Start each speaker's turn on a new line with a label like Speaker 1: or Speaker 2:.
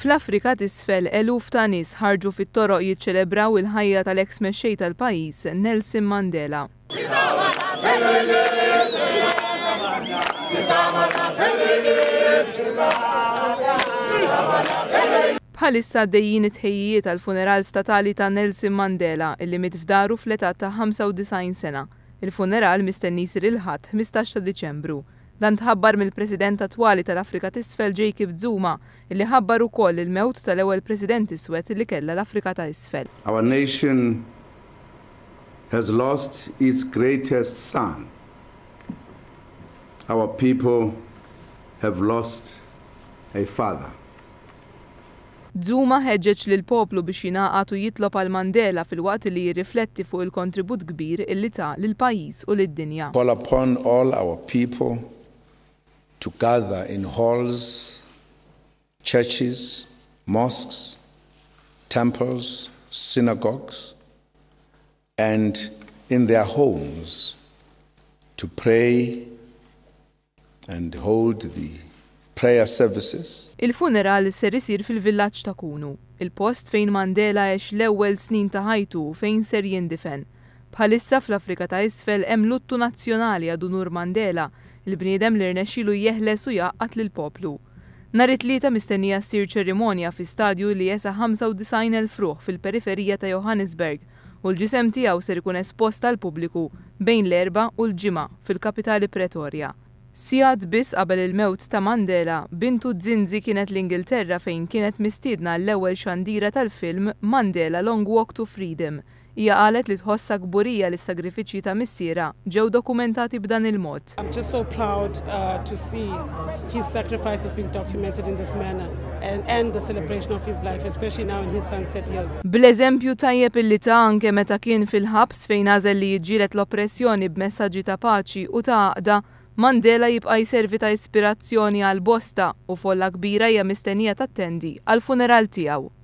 Speaker 1: Fl-Afrika t'Isfel, eluf ta' nies ħarġu fit-toroq jiċċelebraw il-ħajja tal-eks mexxej tal-pajjiż, Nelson Mandela. Bħalissa għaddejjin it-tħejjijiet għall-funeral statali ta' Nelson Mandela, illi miet f'daru fl-età ta' 95 sena. Il-funeral mistenni jsir il-Ħadd 15 ta' Diċembru. Dan tħabbar mill-President attwali tal-Afrika t'Isfel Jacob Zuma, illi ħabbar ukoll il-mewt tal-ewwel President iswed li kellha l-Afrika ta' Isfel.
Speaker 2: Our nation has lost its greatest son. Our people have lost a father.
Speaker 1: Zuma ħeġġeġ lill-poplu biex jingħaqad u jitlob għal Mandela filwaqt li jirrifletti fuq il-kontribut kbir illi ta lill-pajjiż u lid-dinja.
Speaker 2: Call upon all our people to gather in halls, churches, mosques, temples, synagogues and in their homes to pray and hold the prayer services.
Speaker 1: Il-funeral ser isir fil-villaġġ ta' Qunu, il-post fejn Mandela għex l-ewwel snin ta' ħajtu u fejn ser jindifen. Bħalissa fl-Afrika ta' Isfel hemm luttu nazzjonali ad unur Mandela, il-bniedem li rnexxielu jeħles u jgħaqqad lill-poplu. Nhar it-Tlieta mistennija ssir ċerimonja fi stadju li jesa' 95,000 ruħ fil-periferija ta' Johannesburg u l-ġisem tiegħu ser ikun espost għall-pubbliku bejn l-Erbgħa u l-Ġimgħa fil-kapitali Pretoria. Sigħat biss qabel il-mewt ta' Mandela, bintu Zinzi kienet l-Ingilterra fejn kienet mistiedna għall-ewwel xandira tal-film Mandela Long Walk to Freedom. Hija qalet li tħossha kburija li s-sagrifiċċji ta' missierha ġew dokumentati b'dan il-mod.
Speaker 3: I'm just so proud to see his sacrifices being documented in this manner and, and the celebration of his life, especially now in his sunset years.
Speaker 1: Bl-eżempju tajjeb illi ta anke meta kien fil-ħabs fejn għażel li jiġġieled l-oppressjoni b'messaġġi ta' paċi u ta' għaqda, Mandela jibqa' jservi ta' ispirazzjoni għal bosta u folla kbira hija mistennija tattendi għall-funeral tiegħu.